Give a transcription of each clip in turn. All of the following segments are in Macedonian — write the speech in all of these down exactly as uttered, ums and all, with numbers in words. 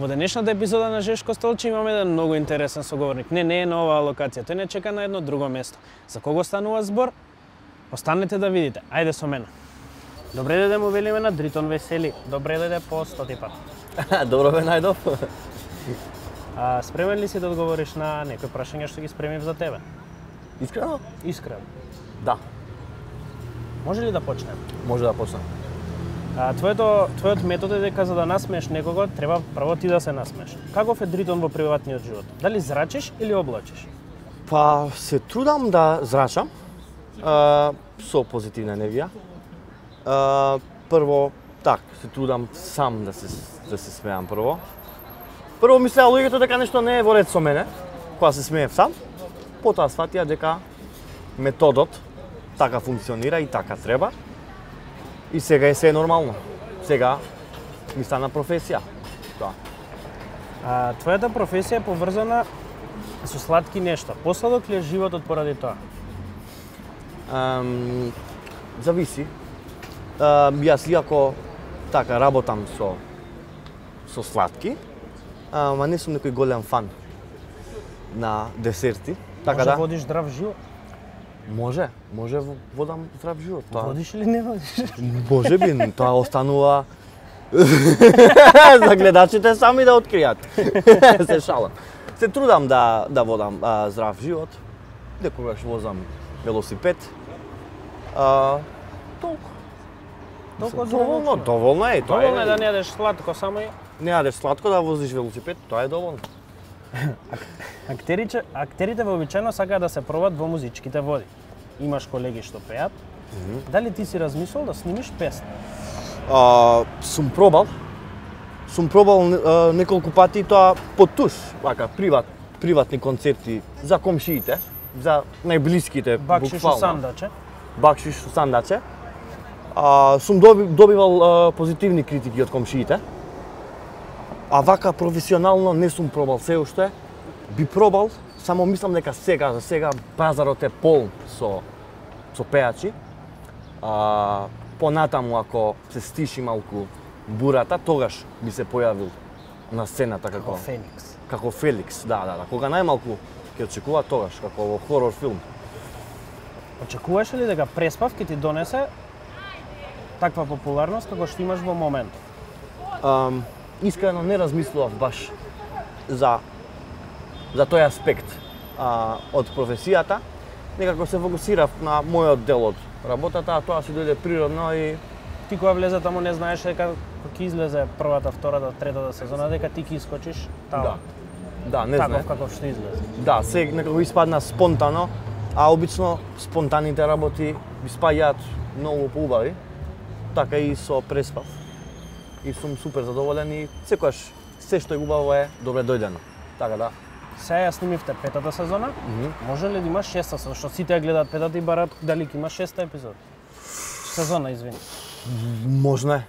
Во денешната епизода на Жешко столче имаме еден многу интересен соговорник. Не, не е на оваа локација, тој не чека на едно друго место. За кого станува збор? Останете да видите. Ајде со мене. Добре дојде му велиме на Дритон Весели. Добре дојде по стоти пат. Добро ве најдов. А спремен ли си да одговориш на некои прашања што ги спремив за тебе? Искрено? Искрено. Да. Може ли да почнем? Може да почнем. А, твоето, твојот метод е дека за да насмееш некого, треба прво ти да се насмееш. Каков е Дритон во приватниот живот? Дали зрачиш или облачиш? Па се трудам да зрачам а, со позитивна енергија. А, прво, так, се трудам сам да се, да се смеам прво. Прво мислеа луѓето дека нешто не е во ред со мене, кога се смеев сам. Потоа сфатија дека методот така функционира и така треба. И сега е се нормално. Сега ми стана професија. Тоа. А, твојата професија е поврзана со сладки нешта. Посладок ли е животот поради тоа? Um, зависи. Uh, јас иако така работам со со сладки, ама не сум некој голем фан на десерти. Така Може да водиш здрав живот? Може, може водам здрав живот. Тоа. Водиш или не водиш? Може би, тоа останува за гледачите сами да откријат. Се шалам. Се трудам да да водам а, здрав живот. Некогаш возам велосипед. А, толку. Толку Доволно, доволно е. Тоа Доволно е е да не јадеш сладко, само и не јадеш сладко да возиш велосипед, тоа е доволно. Актерите, актерите вообичаено сакаат да се пробат во музичките води. Имаш колеги што пеат. Mm -hmm. Дали ти си размислил да снимиш песна? А, сум пробал. Сум пробал а, неколку пати тоа по туш, вака приват, приватни концерти за комшиите, за најблиските, Бакшиш буквално. сандаче. Бакшиш сандаче. А, сум доби, добивал а, позитивни критики од комшиите. А вака професионално не сум пробал се уште. Би пробал, само мислам дека сега, за сега пазарот е полн со со пеачи. А, понатаму ако се стиши малку бурата, тогаш би се појавил на сцената како Како Феникс. како Феликс, да, да, да. Кога најмалку ќе очекува тогаш како во хорор филм. Очекуваш ли дека Преспав ќе ти донесе таква популарност како што имаш во моментот? Um, искрено не размислував баш за за тој аспект а, од професијата. Некако се фокусирав на мојот дел од работата, а тоа си дојде природно и Ти кога влезе таму не знаеш дека кога ќе излезе првата, втората, третата сезона дека ти ќе искочиш таму. да. Да, не Таков знаев. каков што излезе. Да, се некако испадна спонтано, а обично спонтаните работи ми спаѓаат многу поубави. Така и со Преспав. И сум супер задоволен и секогаш се што е убаво е добре дојдено. Така да. Сега ја снимивте петата сезона. Mm -hmm. Може ли да има шеста сезона? Што сите ја гледаат петата и барат дали ќе има шеста епизод? Сезона, извини. Можно е.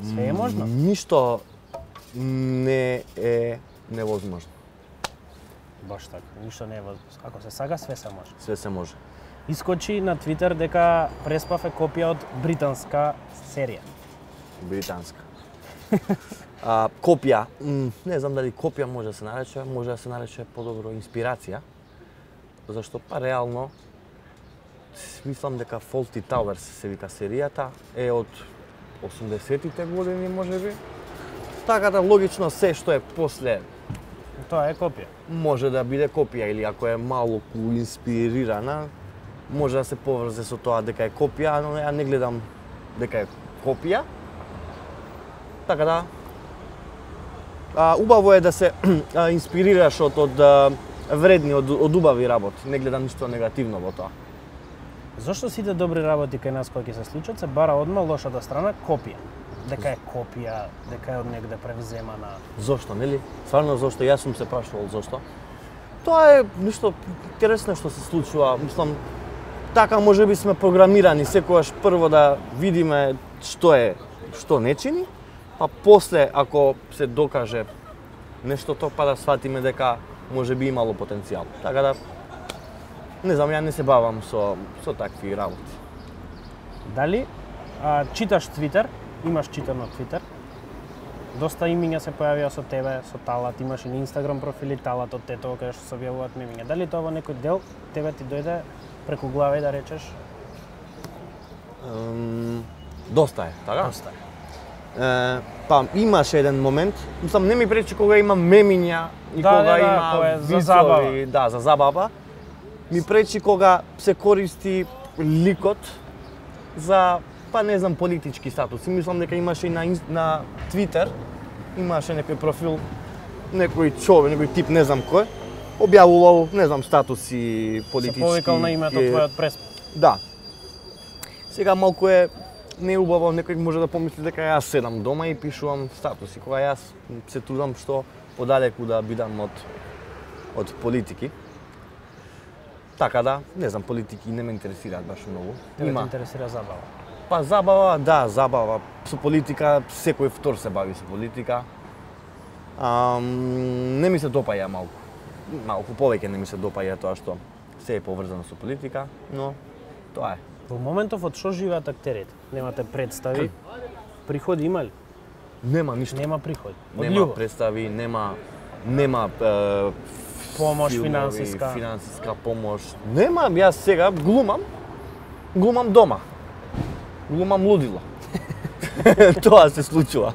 Све е можно. Ништо не е невозможно. Баш така, ништо не е возможно. Ако се сака, све се може. Све се може. Искочи на Твитер дека Преспав е копија од британска серија. Британска. А, копија, м, не знам дали копија може да се нарече, може да се нарече подобро инспирација. Зашто па реално мислам дека Fawlty Towers се вика серијата е од осумдесетите години можеби. Така да логично се што е после Тоа е копија. може да биде копија или ако е малку инспирирана, може да се поврзе со тоа дека е копија, но ја не гледам дека е копија. Така да, а, убаво е да се а, инспирираш од, од а, вредни, од, од убави работи. Не гледам ништо негативно во тоа. Зошто сите добри работи кај нас кои ќе се случат се бара одма лошата страна копија? Дека е копија, дека е од негде превземана. Зошто, нели? Стварно зошто? Јас сум се прашувал зошто. Тоа е нешто интересно што се случува. Мислам, така можеби сме програмирани секогаш прво да видиме што е, што не чини, па после ако се докаже нештото, па да сватиме дека можеби имало потенцијал. Така да, не знам, ја не се бавам со, со такви работи. Дали а, читаш Твитер? Имаш читано Твитер? Доста имиња се појавија со тебе, со Талат, имаш и на Инстаграм профили Талат од Тетово каде што се објавуваат мемиња. Дали тоа во некој дел тебе ти дојде преку глава и да речеш? Um, доста е, така? Доста е. Е, па имаше еден момент, мислам не ми пречи кога има мемиња и Да, кога да, да, има кога е за вицови, забава. да, за забава. Ми пречи кога се користи ликот за, па не знам, политички статуси. Мислам дека имаше и на, инс- на Твитер, имаше некој профил, некој човек, некој тип, не знам кој, објавувал, не знам, статуси политички. Се повикал на името е, твојот прес. Да. Сега малку е неубаво, некој може да помисли дека јас седам дома и пишувам статуси, кога јас се трудам што подалеку да бидам од од политики. Така да, не знам, политики не ме интересираат баш многу. Тебе те интересира забава. Па забава, да, забава. Со политика, секој втор се бави со политика. Ам, не ми се допаја малку. Малку повеќе не ми се допаја тоа што се е поврзано со политика, но тоа е. Во моментов од што живеат актерите? Немате представи? Приходи има ли? Нема ништо. Нема приходи. Од Нема љубов. представи, нема нема е, Помош филмови, финансиска. финансиска помош. Нема, јас сега глумам, глумам дома. Глумам лудило. Тоа се случува.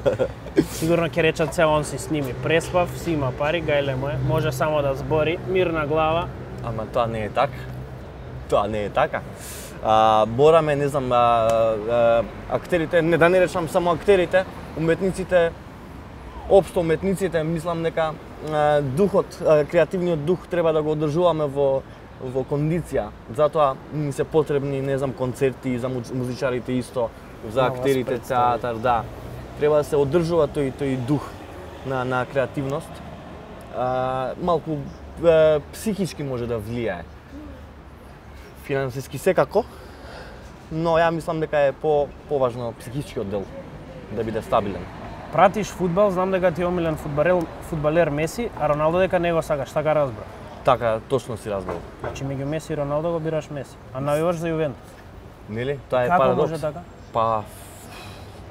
Сигурно ќе речат се он си сними. Преспав, си има пари, гајле му е, може само да збори, мирна глава. Ама тоа не е така. Тоа не е така. А, бораме, не знам, а, а, актерите, не да не речам само актерите, уметниците, општо уметниците, мислам дека а, духот, а, креативниот дух треба да го одржуваме во во кондиција. Затоа ни се потребни, не знам, концерти за муз- музичарите исто, за Нова актерите, представи. театар, да. Треба да се одржува тој тој дух на на креативност. А, малку е, психички може да влијае. Финансиски секако, но ја мислам дека е по поважно психичкиот дел да биде стабилен. Пратиш фудбал, знам дека ти е омилен фудбалер, фудбалер Меси, а Роналдо дека не го сакаш, така разбрав. Така точно си разбрал. Значи меѓу Меси и Роналдо го бираш Меси, а навиваш за Јувентус. Нели? Тоа е Како парадокс. може така? Па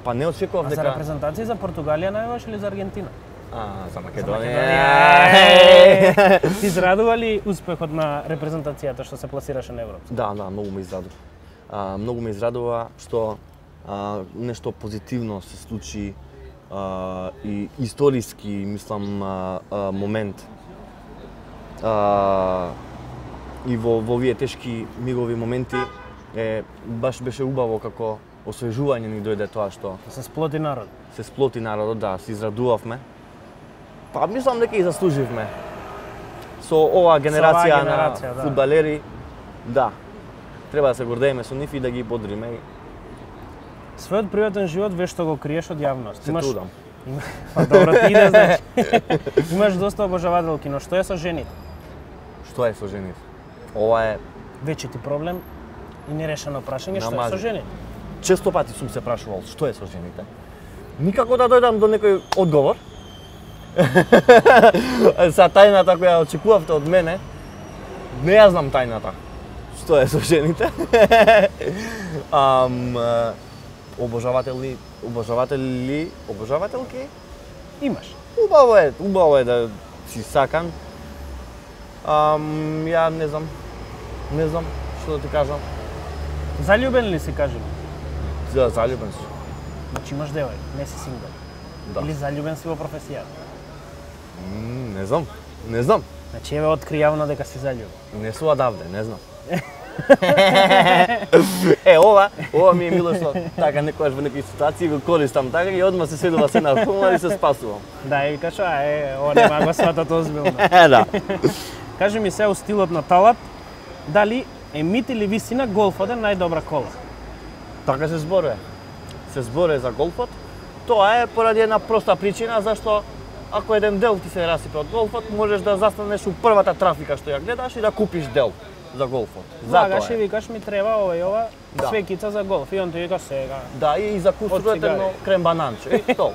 па не очекував А за дека репрезентација за Португалија навиваш или за Аргентина? а за За Македонија. Ти израдува ли успехот на репрезентацијата што се пласираше на Европа? Да, да, многу ме израдува. А, многу ме израдува што а, нешто позитивно се случи а, и историски, мислам, а, а, момент. А, и во, во овие тешки мигови моменти е баш беше убаво како освежување ни дојде тоа што Да се сплоти народ. се сплоти народот, да, се израдувавме. Па мислам дека и заслуживме. Со оваа генерација, генерација, на да. фудбалери, да. Треба да се гордееме со нив и да ги бодриме. И Својот приватен живот веш што го криеш од јавност. се трудам. Има... Па добро ти иде, значи. Имаш доста обожавателки, но што е со жените? Што е со жените? Ова е Вече ти проблем и нерешено прашање, што е Намази. со жените? често пати сум се прашувал што е со жените. Никако да дојдам до некој одговор. За тајната која очекувавте од мене, не ја знам тајната. Што е со жените? Ам, е, обожаватели, обожаватели, обожавателки? Имаш. Убаво е, убаво е да си сакан. Ам, ја не знам, не знам што да ти кажам. Заљубен ли си, кажи ми? За заљубен сум. Значи имаш девој, не си сингл. Да. Или заљубен си во професијата. М, не знам, не знам. Значи еве откри јавно дека си заљубен. Не су одавде, не знам. Е, ова, ова ми е мило што така некојаш во некои ситуации го користам така и одма се седува се на хумор и се спасувам. Да, и викаш, а е, ова нема го сватат озбилно. Да. Кажи ми се у стилот на Талат, дали е мит или висина голфот е најдобра кола? Така се зборува. Се зборува за голфот. Тоа е поради една проста причина зашто ако еден дел ти се расипе од голфот, можеш да застанеш у првата трафика што ја гледаш и да купиш дел за голфот. Влагаш Затоа и е. викаш ми треба ова и ова, Да. свекица за голф. И он ти вика сега. Да, и за кусурот цигари. едно крем бананче. И тоа.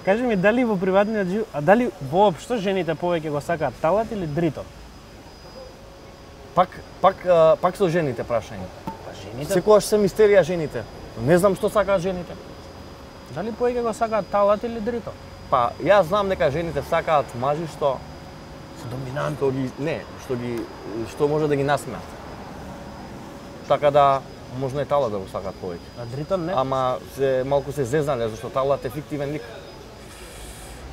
Кажи ми дали во приватниот живот, а дали воопшто жените повеќе го сакаат Талат или Дрито? Пак, пак, а, пак со жените прашање. Па жените. Секогаш се мистерија жените. Не знам што сакаат жените. Дали повеќе го сакаат талат или дрито? Па, јас знам дека жените сакаат мажи што Се доминант. што ги не, што ги што може да ги насмеат. Така да можно е талат да го сакаат повеќе. А дритон не? Ама се малку се зезнале зашто талат е фиктивен лик.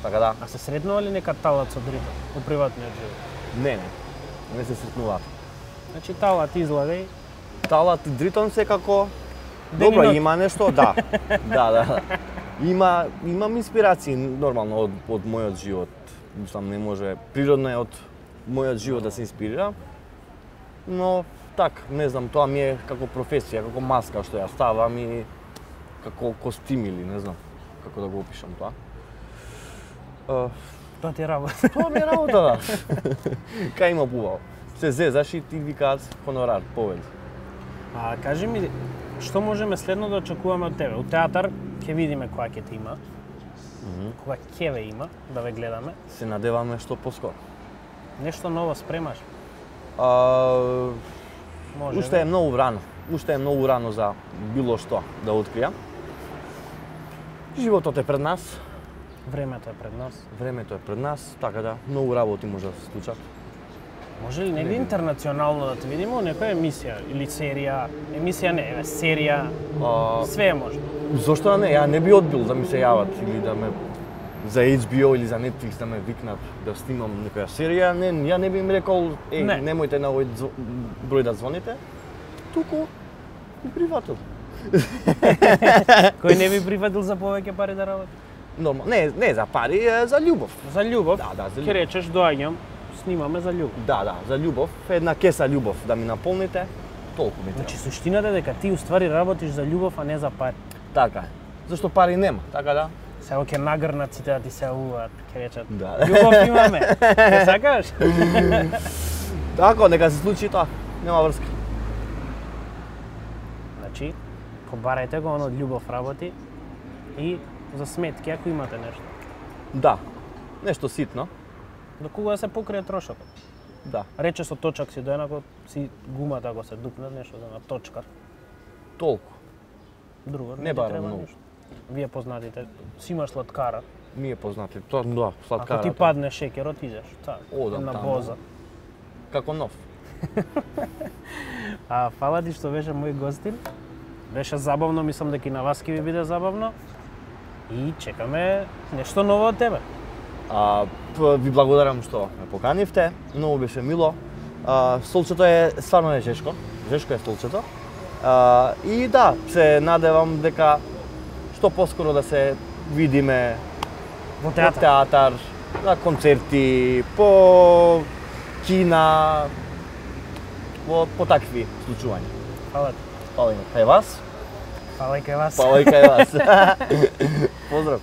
Така да, А се сретнува ли нека талат со дрито во приватниот живот? не, не. Не се сретнуваат. Значи талат излави. Талат и дритон секако Ден и добро ноќ. има нешто, да. Да, да. Има имам инспирации нормално од од мојот живот. Мислам не може природно е од мојот живот да се инспирира. Но так, не знам, тоа ми е како професија, како маска што ја ставам и како костим или не знам како да го опишам тоа. Uh, Тоа ти е работа. тоа ми е работа, да. Кај има пувал. Се зезаш и ти викаат хонорар, повеќе. А кажи ми, што можеме следно да очекуваме од тебе? У театар ќе видиме која ќе те има. Кога ќе ве има, да ве гледаме. Се надеваме што поскоро. Нешто ново спремаш? А, Може. уште е многу рано. Уште е многу рано за било што да откријам. Животот е пред нас, Времето е пред нас. времето е пред нас, така да многу работи може да се случат. Може ли негде интернационално да те видиме у некоја емисија или серија? Емисија не, е серија. А, Све е можно. зошто да не? Ја не би одбил да ми се јават или да ме за Ейч Би О или за Netflix да ме викнат да снимам некоја серија. Не, ја не би им рекол, еј, Не. немојте на овој зв- број да звоните. Туку и привател. Кој не би прифатил за повеќе пари да работи? Нормално, не, не за пари, е за љубов. За љубов? Да, да, за Ќе љубов. речеш, доаѓам, снимаме за љубов. Да, да, за љубов, една кеса љубов да ми наполните, толку ми треба. Значи, суштината е дека ти уствари работиш за љубов, а не за пари. Така е. Зашто пари нема, така да? Сега ќе нагрнат сите да ти се уват, ќе речат. Да. Љубов имаме. Ќе сакаш? Така, нека се случи тоа. Нема врска. Значи, побарајте го оно од љубов работи и за сметки ако имате нешто. Да. Нешто ситно. До кога да се покрие трошокот? Да. Рече со точак си доенако си гумата ако се дупне нешто за на точкар. Толку. Друго Не ти барам треба многу. ништо. Вие познатите, си имаш сладкара. Ми е познати. Тоа, да, сладкарата. Ако ти падне шеќерот, идеш. Та, Одам на таму. боза. Како нов. А фала ти што беше мој гостин. Беше забавно, мислам дека и на вас ќе ви биде забавно. И чекаме нешто ново од тебе. А, п- ви благодарам што ме поканивте. Многу беше мило. А, столчето е стварно е жешко. Жешко е столчето. А, и да, се надевам дека што поскоро да се видиме Во по театар. театар, на концерти, по кина, по, по такви случувања. Фала ти. Фала и кај вас, Фала и кај вас. фала и кај вас. Поздрав.